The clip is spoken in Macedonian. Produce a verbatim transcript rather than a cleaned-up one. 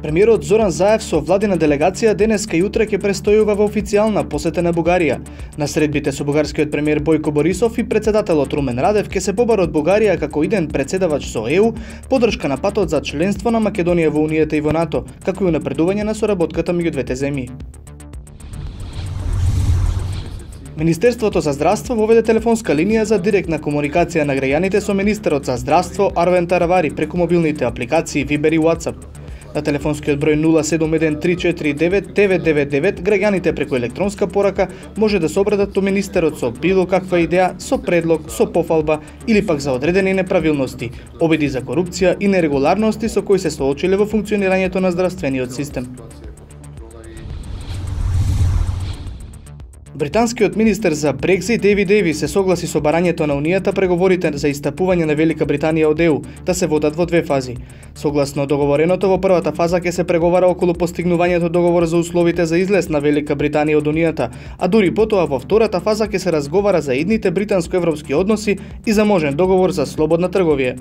Премиерот Зоран Заев со владина делегација денеска и утре ќе престојува во официјална посета на Бугарија. На средбите со бугарскиот премиер Бојко Борисов и председателот Румен Радев ќе се побарат Бугарија како иден председавач со Е У, поддршка на патот за членство на Македонија во Унијата и во НАТО, како и унапредување на соработката меѓу двете земји. Министерството за здравство воведе телефонска линија за директна комуникација на граѓаните со министерот за здравство Арвен Таравари преку мобилните апликации Viber и WhatsApp. На телефонскиот број нула седум еден три четири девет девет девет девет граѓаните преку електронска порака може да се обратат до министерот со било каква идеја, со предлог, со пофалба или пак за одредени неправилности, обиди за корупција и нерегуларности со кои се соочиле во функционирањето на здравствениот систем. Британскиот министер за Брекзит Дейвид Дейвис се согласи со барањето на Унијата преговорите за истапување на Велика Британија од Е У да се водат во две фази. Согласно договореното, во првата фаза ќе се преговара околу постигнувањето договор за условите за излез на Велика Британија од Унијата, а дури потоа во втората фаза ќе се разговара за идните британско-европски односи и за можен договор за слободна трговија.